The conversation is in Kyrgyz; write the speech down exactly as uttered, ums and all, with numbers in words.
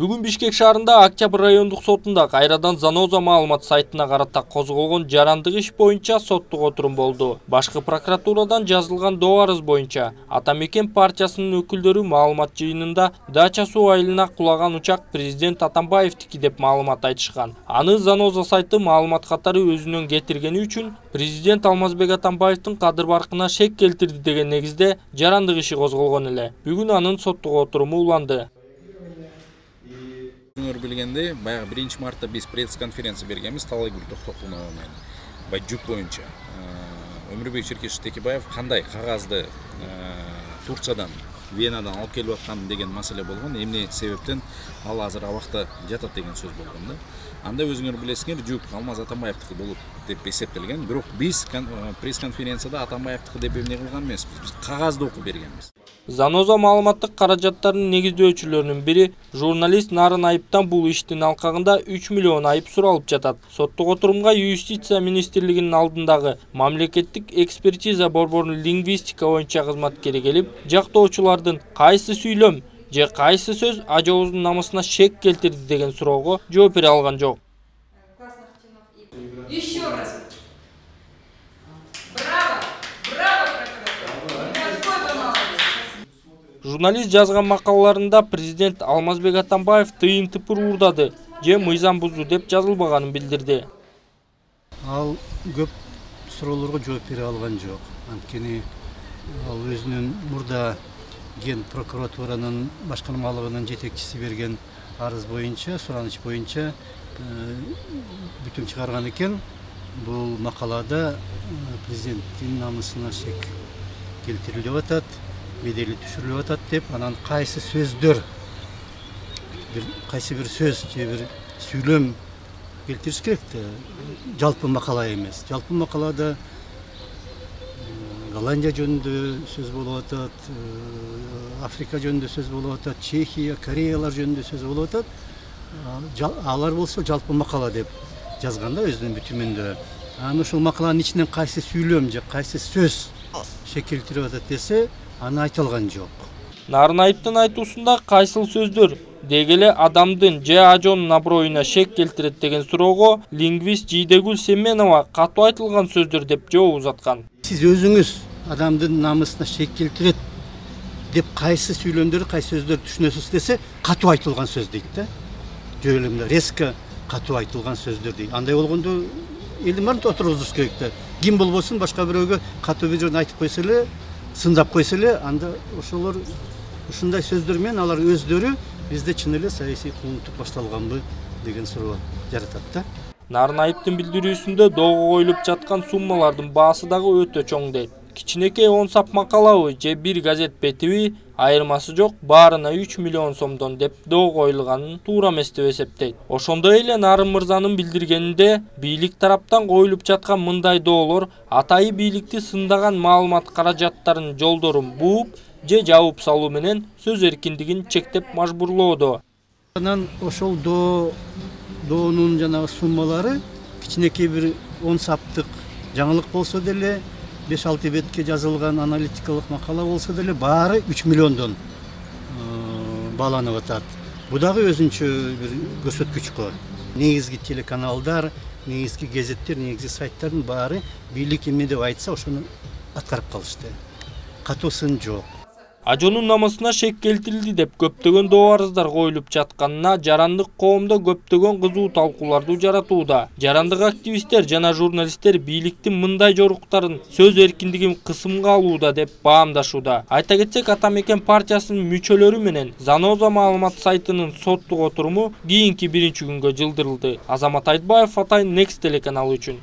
Бүгүн Бишкек шаарында Октябрь райондук сотунда кайрадан Заноза маалымат сайтына карата козголгон жарандык иш боюнча соттук отурум болду. Башкы прокуратурадан жазылган доо арыз боюнча Ата Мекен партиясынын өкүлдөрү маалымат жыйынында дача суу айылына кулаган учак президент Атамбаевдики деп маалымат айтышкан. Аны Заноза сайты маалымат катары өзүнөн кетиргени үчүн президент Алмазбек Атамбаевдин кадыр баркына шек келтирди деген негизде жарандык иши козголгон эле. Бүгүн анын соттук отуруму уланды. Өңөр билгенде, баягы биринчи мартта биз пресс-конференция бергенбиз Талайгүл Токтокулова менен. Бай жүк боюнча. Өмүрбек Черкешев Текебаев кандай кагазды Турциядан, Венадан алып келип аткан деген маселе болгон. Эмне себептен ал азыр абакта жатат деген сөз болгон да. Анда өзүңөр билесиңер, жүк Алмаз Атамбаевдики болуп деп эсептелген. Бирок биз пресс-конференцияда Атамбаевдики деп эмне кылган эмеспиз. Биз кагазды окуп бергенбиз. Заноза маалыматтык каражаттарынын негиздөөчүлөрүнүн бири журналист Нарын Айыптан бул иштин алкагында үч миллион айып суралып жатат. Соттук отурумга Юстиция министрлигинин алдындагы мамлекеттик экспертиза борборунун лингвистика боюнча кызматкери келип, жактоочулардын кайсы сүйлөм же кайсы сөз ажообуздун намысына шек келтирди деген суроого жооп бере алган жок. Еще раз. Браво! Браво, прокуратура! Журналист жазган макалаларында президент Алмазбек Атамбаев тыйын тыпыр уурдады же мыйзам бузду деп жазылбаганын билдирди. Ал көп суроолорго жооп бере алган жок. Анткени ал өзүнүн мурда ген прокуратуранын башкармалыгынын жетекчиси берген арыз боюнча, сураныч боюнча бүтүм чыгарган экен. Бул макалада президенттин намысына шек келтирилип атат, бедели түшүрүлүп атат деп, анан кайсы сөздөр, кайсы бир сөз же бир сүйлөм келтириш керек да, жалпы макала эмес. Жалпы макалада Голландия жөнүндө сөз болуп атат, Африка жөнүндө сөз болуп атат, Чехия, Кореялар жөнүндө сөз болуп атат. Алар болсо жалпы макала деп жазганда өзүнүн бүтүмүндө. Аны ушул макаланын ичинен кайсы сүйлөм же кайсы сөз шек келтирип атат десе, аны айта алган жок. Нарын Айыптын айтуусунда кайсыл сөздөр дегеле адамдын же ажоонун аброюна шек келтирет деген суроого лингвист Жийдегүл Семенова катуу айтылган сөздөр деп жооп узаткан. Сиз өзүңүз адамдын намысына шек келтирет деп кайсы сүйлөмдөрдү, кайсы сөздөрдү түшүнөсүз десе, катуу айтылган сөз дейт да. Жөнүндө резко катуу айтылган сөздөр дейт. Андай болгондо элдин баарын отургузуш керек да. Ким болбосун башка бирөөгө катуу бир жерин айтып койсо эле, сындап койсо эле, анда ошолор ушундай сөздөр менен алар өздөрү бизде чын эле саясий куугунтук башталганбы деген суроо жаратат да. Нарын Айыптын билдирүүсүндө доого коюлуп жаткан суммалардын баасы дагы өтө чоң дейт. Кичинекей он сап макалабы же бир газет бетиби айырмасы жок, баарына үч миллион сомдон деп доо коюлганын туура эмес деп эсептейт. Ошондой эле Нарын мырзанын билдиргенинде бийлик тараптан коюлуп жаткан мындай доолор атайы бийликти сындаган маалымат каражаттарынын жолдорун бууп же жабып салуу менен сөз эркиндигин чектеп мажбурлоодо. Анан ошол доо доонун жанагы суммалары кичинекей бир он саптык жаңылык болсо деле, беш алты бетке жазылган аналитикалык макала болсо деле баары үч миллиондон бааланып атат. Бу дагы өзүнчө бир көрсөткүч го. Негизги телеканалдар, негизги газеттер, негизги сайттардын баары бийлик эмне деп айтса, ошону аткарып калышты. Катуу сын жок. Ажоонун намысына шек келтирилди деп көптөгөн доо арыздар коюлуп жатканына жарандык коомдо көптөгөн кызуу талкууларды жаратууда. Жарандык активисттер жана журналисттер бийликтин мындай жоруктарын сөз эркиндигин кысымга алууда деп баамдашууда. Айта кетсек, Ата Мекен партиясынын мүчөлөрү менен Заноза маалымат сайтынын соттук отуруму кийинки биринчи күнгө жылдырылды. Азамат Айтбаев, Атайын Next телеканалы үчүн.